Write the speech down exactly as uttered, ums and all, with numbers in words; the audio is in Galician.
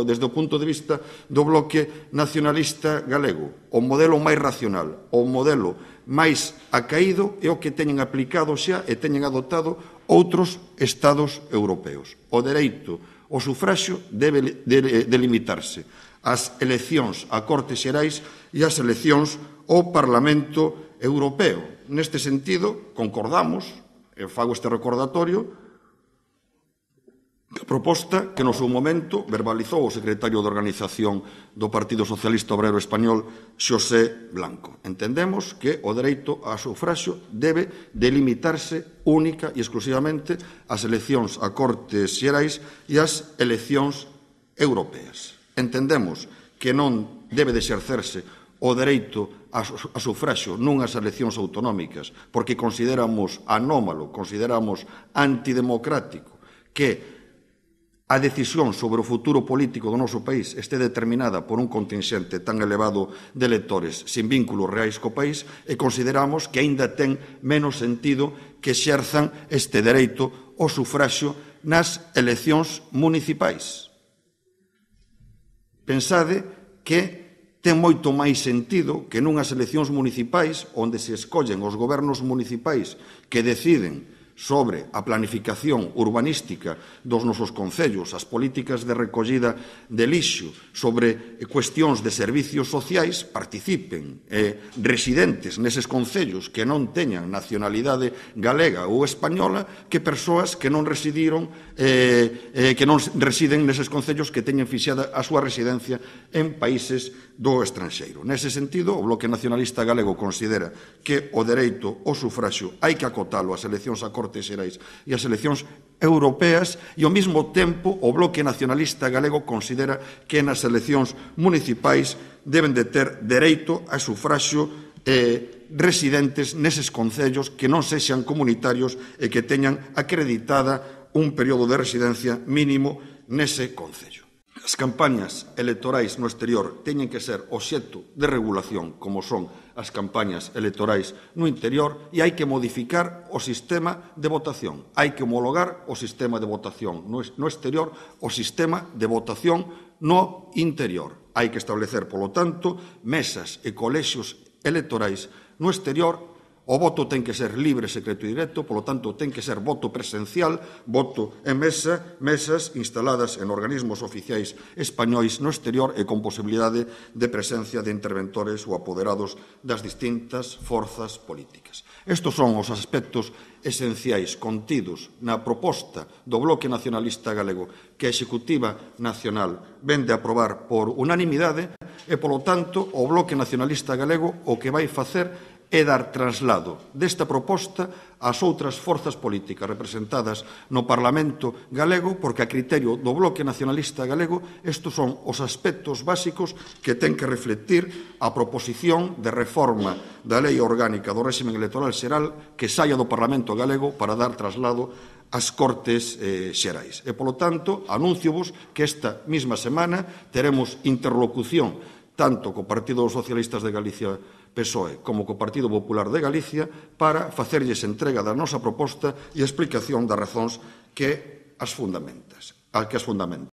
desde o punto de vista do bloque nacionalista galego. O modelo máis racional, o modelo máis acaído é o que teñen aplicado xa e teñen adoptado outros estados europeos. O dereito ao sufraxio debe delimitarse ás eleccións a Cortes Xerais e ás eleccións ao Parlamento Europeo. Neste sentido, concordamos, e fago este recordatorio, a proposta que no seu momento verbalizou o secretario de Organización do Partido Socialista Obrero Español, Xosé Blanco. Entendemos que o dereito ao sufraxio debe delimitarse única e exclusivamente ás eleccións a Cortes Xerais e ás eleccións europeas. Entendemos que non debe de exercerse o dereito a sufraxio nunhas eleccións autonómicas porque consideramos anómalo, consideramos antidemocrático que a decisión sobre o futuro político do noso país este determinada por un contingente tan elevado de electores sin vínculos reais co país e consideramos que aínda ten menos sentido que exerzan este dereito ao sufraxio nas eleccións municipais. Pensade que ten moito máis sentido que nunhas eleccións municipais onde se escollen os gobernos municipais que deciden sobre a planificación urbanística dos nosos concellos, as políticas de recollida de lixo, sobre cuestións de servicios sociais, participen eh, residentes neses concellos que non teñan nacionalidade galega ou española que persoas que non residiron, eh, eh, que non residen neses concellos que teñen fixada a súa residencia en países do estranxeiro. Nese sentido, o Bloque Nacionalista Galego considera que o dereito ao sufraxio hai que acotalo ás eleccións a Cortes Xerais e as eleccións europeas e, ao mesmo tempo, o Bloque Nacionalista Galego considera que nas eleccións municipais deben de ter dereito a sufraxio eh, residentes neses concellos que non sexan comunitarios e que teñan acreditada un período de residencia mínimo nese concello. As campañas electorais no exterior teñen que ser obxecto de regulación, como son as campañas electorais no interior, e hai que modificar o sistema de votación. Hai que homologar o sistema de votación no exterior, o sistema de votación no interior. Hai que establecer, polo tanto, mesas e colexios electorais no exterior. O voto ten que ser libre, secreto e directo, polo tanto, ten que ser voto presencial, voto en mesa, mesas instaladas en organismos oficiais españois no exterior e con posibilidade de presencia de interventores ou apoderados das distintas forzas políticas. Estes son os aspectos esenciais contidos na proposta do Bloque Nacionalista Galego que a Executiva Nacional vende a aprobar por unanimidade e, polo tanto, o Bloque Nacionalista Galego o que vai facer é dar traslado desta proposta ás outras forzas políticas representadas no Parlamento galego, porque a criterio do Bloque Nacionalista Galego estes son os aspectos básicos que ten que reflectir a proposición de reforma da Lei Orgánica do Réximen Electoral Xeral que saia do Parlamento galego para dar traslado ás Cortes eh, Xerais. E, polo tanto, anúnciovos que esta mesma semana teremos interlocución tanto co Partido dos Socialistas de Galicia P S O E como co Partido Popular de Galicia para facerlles entrega da nosa proposta e explicación das razóns que as fundamentas, a que as fundamentan.